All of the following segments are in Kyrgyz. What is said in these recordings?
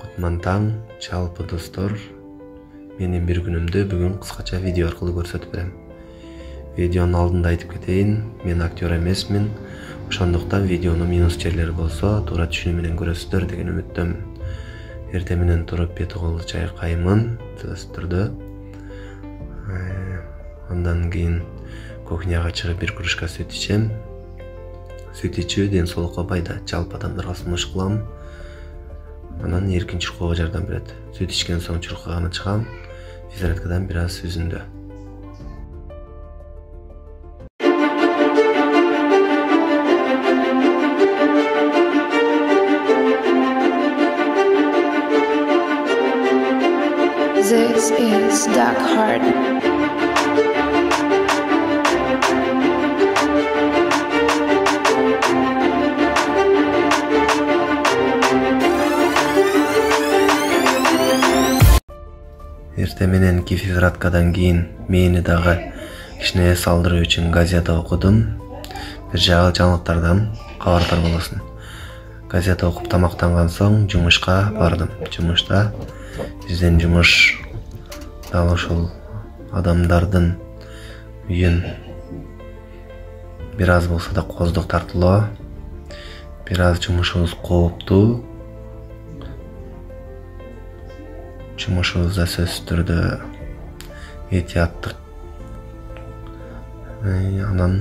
Кутман таң, жалпы достор. Менин бир күнүмдү бүгүн кыскача видео аркылуу көрсөтүп берем. Видеонун алдында айтып кетейин, мен актер эмесмин. Ошондуктан видеонун минус жерлери болсо, туура түшүнүү менен көрөсүздөр деген үмүттөмүн. Эртең менен туруп бет кол чайкаймын, сөзсүз түрдө. Андан кийин кухняга чыгып бир кружка сүт ичем. Сүт ичүү ден соолукка пайда, жалпы адамдарга сунуш кылам. Анан эркин чуркоого жардам берет. Сүт ичкен соң чуркаганы чыгам, физзарядкадан бир аз үзүндө. This is Dark Heart. Эртең мененки физзарядкадан кийин мени дагы кичине эс алдыруу үчүн газета окудум. Бир жагы жаңылыктардан кабардар болосуң. Газета окуп тамактанган соң жумушка бардым. Жумушта биздин жумуш дал ушул адамдардын үйүн бир аз болсо да коздук тартылоо. Бир аз жумушубуз кооптуу. Жумушубузда сөзсүз түрдө этияттык, анан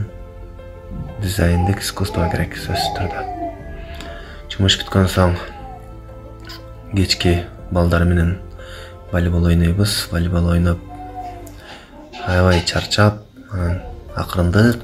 дизайндык искусство керек сөзсүз түрдө. Жумуш бүткөн соң кечки балдар менен волейбол ойнойбуз. Волейбол ойноп аябай чарчап, акырындык